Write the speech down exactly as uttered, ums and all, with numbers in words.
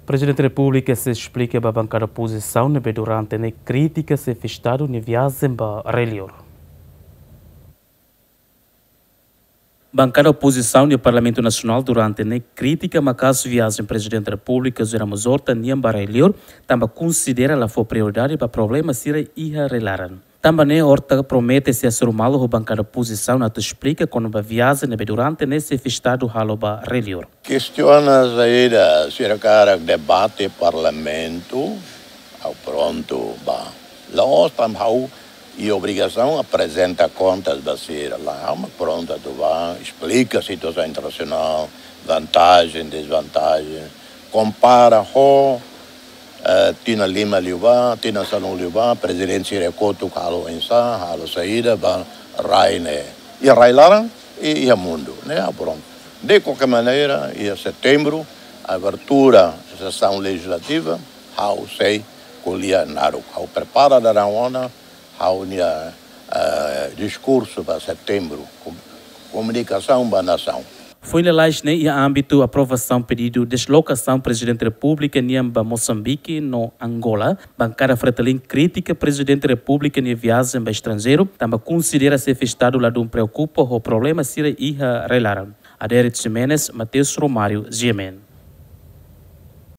Prezidente Repúblika sei esplika ba bankada opozisaun ne'ebé durante ne'e kritika Xefe Estadu nia viajen ba Rei Liur. Bankada opozisaun iha Parlamentu Nasionál durante ne'e kritika maka'as viajen Prezidente Repúblika José Ramos Horta nian ba Rei Liur, tanba konsidera la fó prioridade ba problema sira iha rai-laran. Tanba ne'e Horta promete sei hasoru malu ho bankada opozisaun atu esplika kona-ba viajen ne'ebé durante ne'e Xefe Estadu halo ba Rei Liur. Kestiona saida, sira hakarak debate Parlamentu, ha'u prontu bá. La'ós tanba ha'u iha obrigasaun aprezenta kontas ba sira, lae, ha'u mak prontu atu bá, esplika situasaun internasionál, vantajen, dezvantajen, kompara ho, eh, tinan lima liubá, tinan sanulu liubá, prezidente sira kotuk halo oinsá, halo saida ba rai ne'e. Iha rai-laran, i iha mundu, ne'e, ah, prontu. De qualquer maneira, iha setembru, abertura sesaun lejizlativa, ha'u sei ko'alia naruk. Ha'u prepara daudaun ona ha'u-nia, eh, diskursu ba setembru, kom-, komunikasaun ba nasaun. Foin lalais ne'e iha ámbitu aprovasaun pedidu deslokasaun Prezidente Repúblika nian ba Mosambike no Angola, bankada Fretilin kritika Prezidente Repúblika nia viajen ba estranjeiru, tanba konsidera Xefe Estadu ladún preokupa ho problema sira iha rai-laran. Adérito Ximenes, Mateus Romário, G M N.